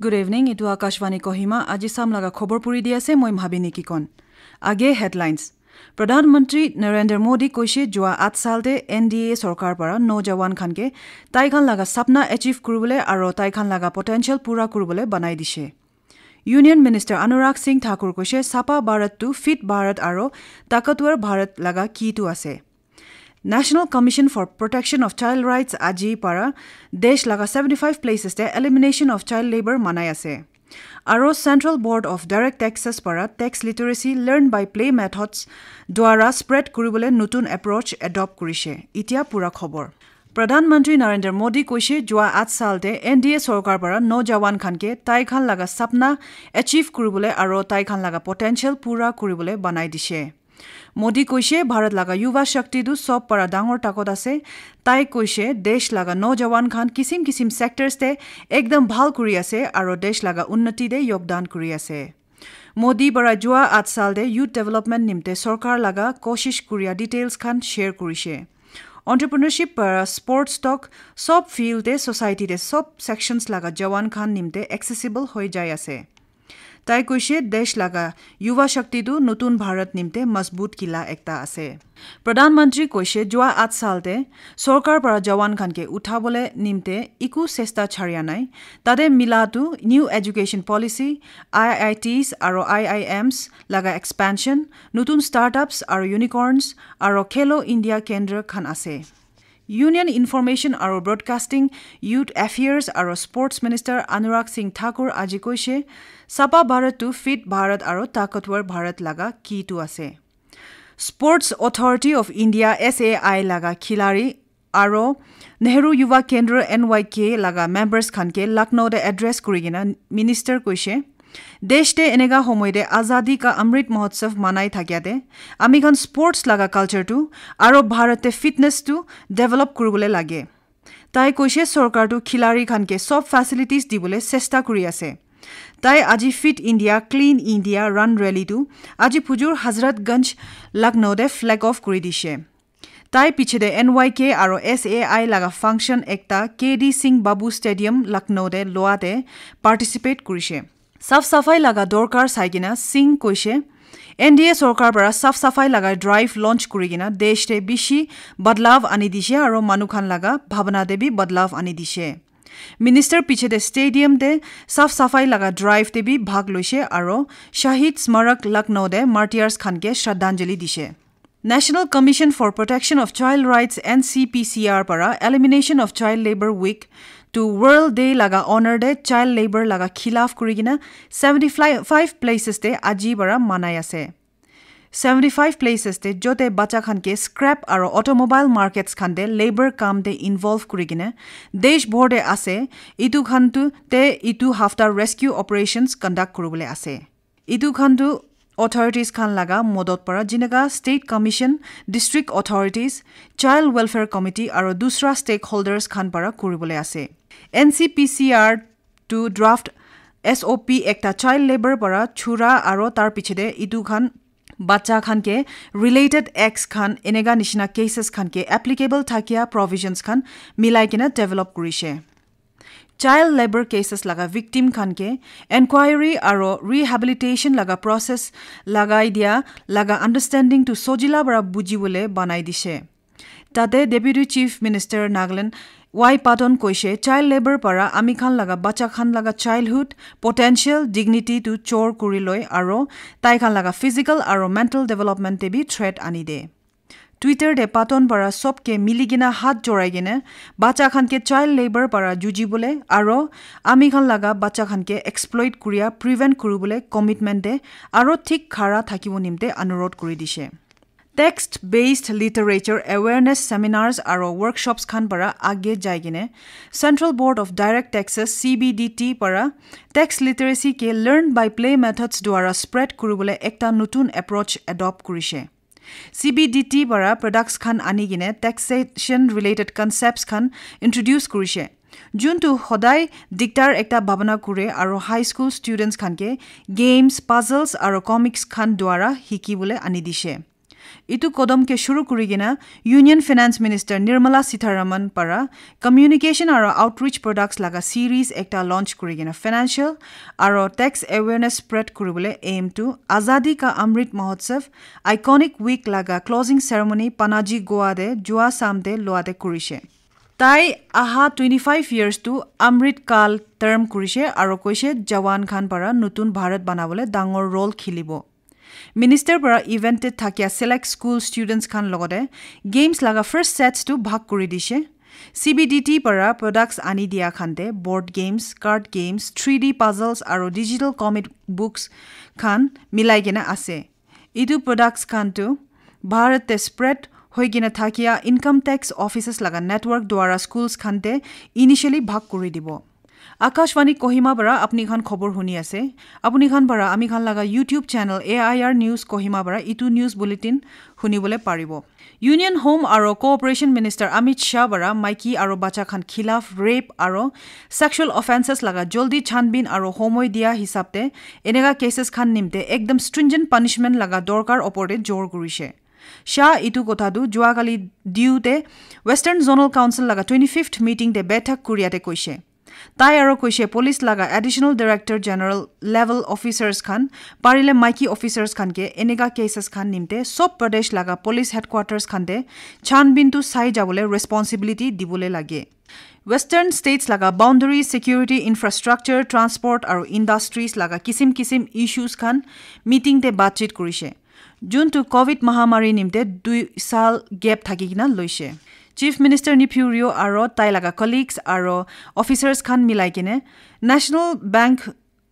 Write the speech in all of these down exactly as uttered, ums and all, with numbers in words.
Good evening, etu Akashvani Kohima. Aji sam laga khobor puri di ase, moi Mhabini Kikon. Age headlines. Pradhan Mantri Narendra Modi koishe jua at sal te N D A sorkar para nojawan khan ke tai khan laga sapna achieve kuribole aro tai khan laga potential pura kuribole banai dishe. Union Minister Anurag Singh Thakur koishe Sapa Bharat to Fit Bharat aro Takatwar Bharat laga key tu ase. National Commission for Protection of Child Rights aji para desh laga seventy five places te elimination of child labor manai ase. Aro Central Board of Direct Taxes para tax literacy learn by play methods dwara spread kuribole nutun approach adopt kurishe. Itia pura khobor. Pradhan Mantri Narendra Modi koishe jua at sal te N D A sorkar para nojawan khan ke tai khan laga sapna achieve kuribole aro tai khan laga potential pura kuribole banai dishe. Modi koishe Bharat laga Yuva Shakti tu sob para dangor takot ase. Tai koishe desh laga nojawan khan kisim kisim sectors te ekdam bhal kuri ase aro desh laga unnati te yogdan kuri ase. Modi para jua at sal te youth development nimte sorkar laga koshish kuria details khan share kurishe. Entrepreneurship para sports talk sob field te society te sob sections laga jawan khan nimte accessible hoi jai ase. Tai koishe desh laga Yuva Shakti tu nutun Bharat nimte mazbut kila ekta ase. Pradhan Mantri koishe jua at sal te sorkar para jawan khan ke uthabole nimte iku sesta charia nai. Tate mila tu new education policy, I I Ts aro I I Ms laga expansion, nutun startups aro unicorns aro Khelo India Kendra khan ase. Union Information aro Broadcasting, Youth Affairs aro Sports Minister Anurag Singh Thakur aji koishe, Sapa Bharat to Fit Bharat aro Takatwar Bharat laga key tu ase. Sports Authority of India, S A I laga khilari aro Nehru Yuva Kendra, N Y K laga members khan ke Lucknow te address kuri kena minister koishe, desh te eneka homoy te Azadi ka Amrit Mahotsav manai thakia te ami khan sports laga culture tu aro Bharat te fitness tu develop kuribole lage. Tai koishe sorkar tu khilari khan ke sob facilities dibole chesta kuri ase. Tai aji Fit India, Clean India Run Rally tu aji Pujur Hazratganj Lucknow te flag off kuri dishe. Tai piche te N Y K aro S A I laga function ekta K D Singh Babu Stadium Lucknow te loa te participate kurishe. Saf safai laga dorkar sai kena Singh koishe, N D A sorkar para saf safai laga drive launch kuri kena desh te bishi badlav ani dishe aro manu khan laga bhabana te bi badlav ani dishe. Minister piche te stadium te saf safai laga drive te bi bhag loishe aro Shahid Smarak Lucknow te martyrs khan ke shraddhanjali dishe. National Commission for Protection of Child Rights, N C P C R para Elimination of Child Labour Week to World Day laga honor te child labour laga khilaf kuri kena seventy five places te aji para manai ase. Seventy five places te jote bacha khan ke scrap aro automobile markets khan te labour kam te involve kuri kena desh bhor te ase, itu khan tu te itu hafta rescue operations conduct kuribole ase. Itu khan tu authorities khan laga modot para jinaka State Commission, District Authorities, Child Welfare Committee aro dusra stakeholders khan para kuribole ase. N C P C R tu draft S O P ekta child labour para chura aro tar piche te itu khan bacha khan ke related acts khan eneka nishina cases khan ke applicable thakia provisions khan milai kena develop kurishe. Child labour cases laga victim khan ke enquiry aro rehabilitation laga process lagai dia laga understanding tu sojila para bujibole banai dishe. Tate Deputy Chief Minister Nagaland Y Patton koishe child labour para ami khan laga bacha khan laga childhood potential dignity tu chor kuri loi aro tai khan laga physical aro mental development te bi threat ani de. Twitter te Patton para sob ke mili kena hat jorai kena bacha khan ke child labour para juji bole aro ami khan laga bacha khan ke exploit kuria prevent kuri bole commitment de aro thik khara thakibo nimte anurodh kuri dishe. Text based literature awareness seminars aro workshops khan para age jai kena Central Board of Direct Taxes, C B D T para tax literacy ke learn by play methods dwara spread kuri bole ekta nutun approach adopt kurishe. C B D T para products khan ani kena taxation related concepts khan introduce kurishe. Juntu hodai diktar ekta bhabana kure aro high school students khan ke games, puzzles aro comics khan dwara hiki bole ani dishe. Itu kodom ke shuru kuri kena Union Finance Minister Nirmala Sitharaman para communication aro outreach products laga series ekta launch kuri kena financial aro tax awareness spread kuribole aim tu Azadi Ka Amrit Mahotsav iconic week laga closing ceremony Panaji Goa te jua sam te loa te kurishe. Tai aha twenty-five years tu Amrit Kal term kurishe aro koishe jawan khan para nutun Bharat banabole dangor role khilibo. Minister para event te thakia select school students khan logote games laga first sets tu bhag kuri dishe. C B D T para products ani dia khan te board games, card games, three D puzzles aro digital comic books khan milai kena ase. Itu products khan tu Bharat te spread hoi kena thakia income tax offices laga network dwara schools khan te initially bhag kuri dibo. Akashvani Kohima para apni khan khobor huni ase. Apni khan para ami khan laga YouTube channel A I R News Kohima para itu news bulletin hunibole paribo. Union Home aro Cooperation Minister Amit Shah para maiki aro bacha khan khilaf rape aro sexual offences laga joldi chanbin aro homoi dia hisab te eneka cases khan nimte ekdam stringent punishment laga dorkar opor te jor kurishe. Shah itu kotha tu juakali diu te Western Zonal Council laga twenty-fifth meeting te bethak kuria te koishe. Tai aro koishe police laga additional director general level officers khan parile maiki officers khan ke eneka cases khan nimte sob pradesh laga police headquarters khan te chanbin tu sai jabole responsibility dibole lage. Western states laga boundary, security, infrastructure, transport aro industries laga kisim kisim issues khan meeting te batchit kurishe. Jun tu covid mahamari nimte dui sal gap thaki kena loishe. Chief Minister Neiphiu Rio aro tai laga colleagues aro officers khan milai kene National Bank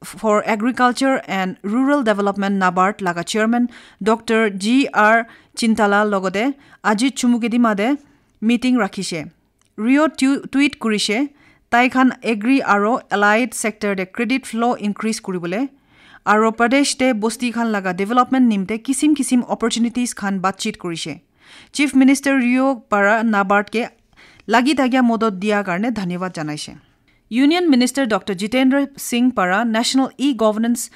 for Agriculture and Rural Development NABARD laga chairman Doctor G R Chintala logote aji Chumukedima te meeting rakhishe. Rio tu- tweet kurishe, tai khan agri aro allied sector te credit flow increase kuribole aro Pradesh te bosti khan laga development nimte kisim kisim opportunities khan batchit kurishe. Chief Minister Rio para NABARD ke lagi thakia modot dia karne dhanyawad janaishe. Union Minister Doctor Jitendra Singh para National E-Governance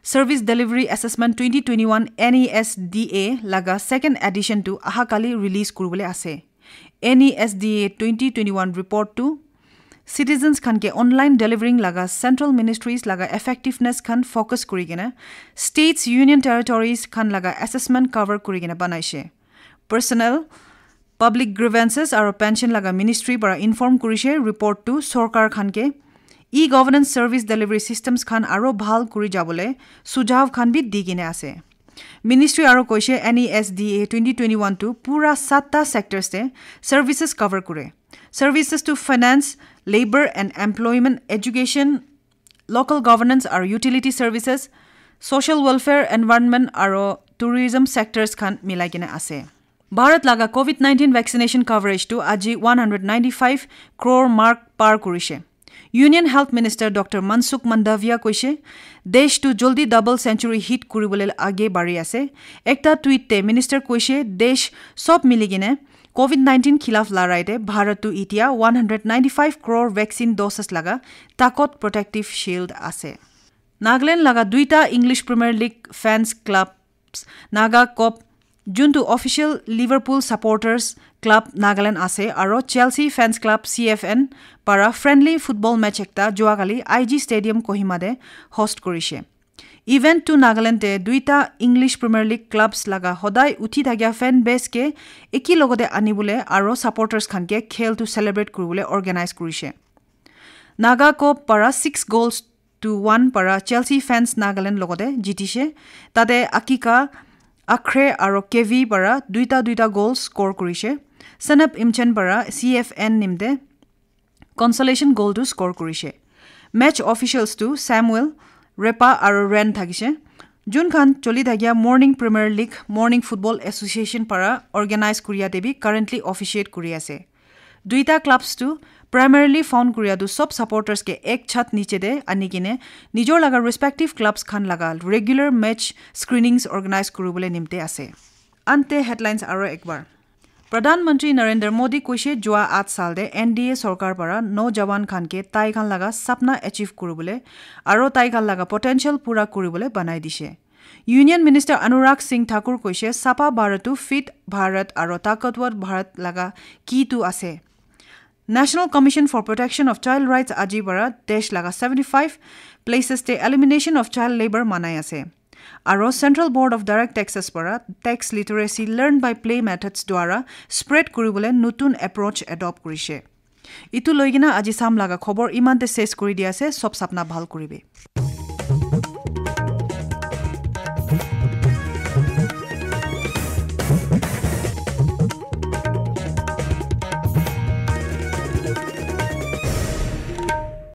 Service Delivery Assessment twenty twenty-one N E S D A laga second edition tu aha kali release kuribole ase. N E S D A twenty twenty-one report tu citizens khan ke online delivering laga central ministries laga effectiveness khan focus kuri kena states, union territories khan laga assessment cover kuri kena banaishe. Personnel, public grievances aro pension laga ministry para inform kurishe report tu sorkar khan ke e-governance service delivery systems khan aro bhal kuri jabole sujav khan bi di kene ase. Ministry aro koishe N E S D A twenty twenty-one tu pura satta sectors te services cover kure. Services to finance, labor and employment, education, local governance aro utility services, social welfare, environment aro tourism sectors khan milai kena ase. Bharat laga covid nineteen vaccination coverage tu aji one hundred ninety-five crore mark par kurishe. Union Health Minister Doctor Mansukh Mandaviya koishe, desh tu joldi double century hit kuribole age bari ase. Ekta tweet te minister koishe, desh sob miligine covid nineteen khilaf larai te Bharat tu itia one hundred ninety-five crore vaccine doses laga takot protective shield ase. Nagaland laga duita English Premier League fans clubs Naga Cop, juntu official Liverpool supporters club Nagaland ase, aro Chelsea fans club C F N para friendly football match ekta juakali I G Stadium Kohima te host kurishe. Event tu Nagaland te duita English Premier League clubs laga hodai uthi thakia fan base ke eki logote anibole aro supporters khan ke khel tu celebrate kuribole organize kurishe. Naga Cop para six goals to one para Chelsea fans Nagaland logote jitishe. Tate Akika Akhre aro K V para duita duita goal score kurishe. Sanap Imchen para C F N nimte consolation goal tu score kurishe. Match officials tu Samuel, Repa aro Ren thakishe. Jun khan choli thakia Morning Premier League, Morning Football Association para organize kuria te bi currently officiate kuri ase. Duita clubs tu primarily found kuria tu sob supporters ke ek chhat niche te ani kine nijor laga respective clubs khan laga regular match screenings organize kuribole nimte ase. Ante headlines aro ekbar. Pradhan Mantri Narendra Modi koishe jua at sal te N D A sorkar para nojawan khan ke tai khan laga sapna achieve kuribole aro tai khan laga potential pura kuribole banai dishe. Union Minister Anurag Singh Thakur koise, Sapa Bharat tu Fit Bharat aro Takatwar Bharat laga key tu ase. National Commission for Protection of Child Rights aji bara desh laga seventy five places te elimination of child labor manai ase. Aro Central Board of Direct Taxes bara tax literacy learn by play methods dwara spread kuribole nutun approach adopt kurishe. Itu loigena aji sam laga khobor imante ses kuri di ase, sob sapna bhal kuribe.